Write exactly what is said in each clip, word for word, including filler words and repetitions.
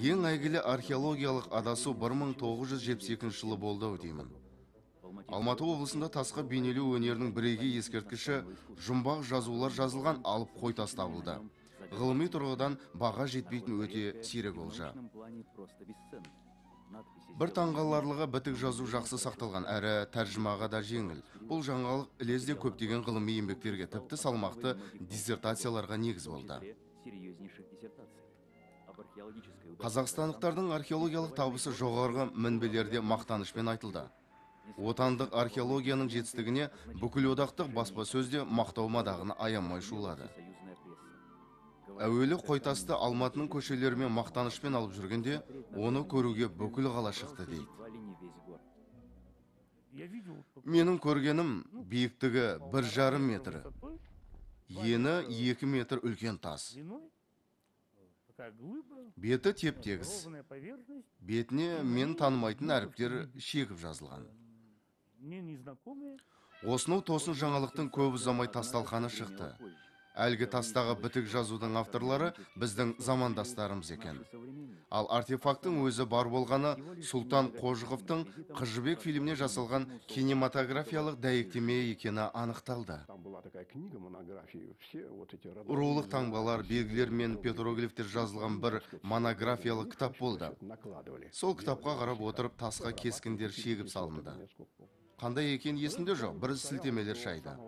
Ең әйгілі археологиялық адасу бір мың тоғыз жүз жетпіс екінші жылы болды ау деймін. Алматы облысында тасқа бейнелеу өнерінің бірегей ескерткіші жұмбақ жазулар жазылған алып қой тас табылды. Ғылыми тұрғыдан баға жетпейтін өте сирек олжа. Бір таңғаларлығы бітік жазу жақсы сақталған, әрі тәржімаға да жеңіл. Бұл жаңалық ілезде көптеген ғылыми еңбектерге, тіпті салмақты диссертацияларға негіз болды. Қазақстандықтардың археологиялық табысы жоғарғы мінбелерде мақтанышпен айтылды. Отандық археологияның жетістігіне бүкіл одақтық баспасөзде мақтау мадағын аямай шулады. Әуелі қойтасты Алматының көшелерімен мақтанышпен алып жүргенде, оны көруге бүкіл қала шықты дейді. Менің көргенім биіктігі бір жарым метр, ені екі метр үлкен тас. Беті теп-тегіс. Бетіне мен танымайтын әріптер шегіп жазылған. Осынау тосын жаңалықтың көп ұзамай тасталқаны шықты. Әлгі тастағы бітік жазудың авторлары біздің замандастарымыз екен. Ал артефактың өзі бар болғаны Сұлтан Қожықовтың «Қыз жібек» фильміне жасалған кинематографиялық дәйектеме екені анықталды. Рулық таңбалар, белгілер мен петроглифтер жазылған бір монографиялық кітап болды. Сол кітапқа қарап отырып тасқа кескіндер шегіп салынды. Қандай екен есімде жоқ, бір сілтемелер шайды.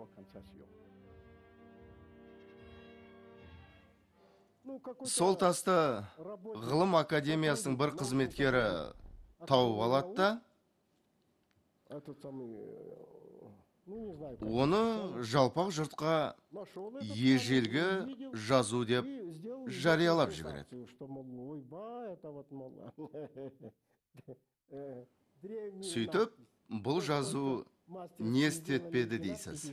Сол тасты ғылым академиясының бір қызметкері тауып алады да, оны жалпақ жұртқа ежелгі жазу деп жариялап жібереді. Сөйтіп, бұл жазу не істетпеді дейсіз?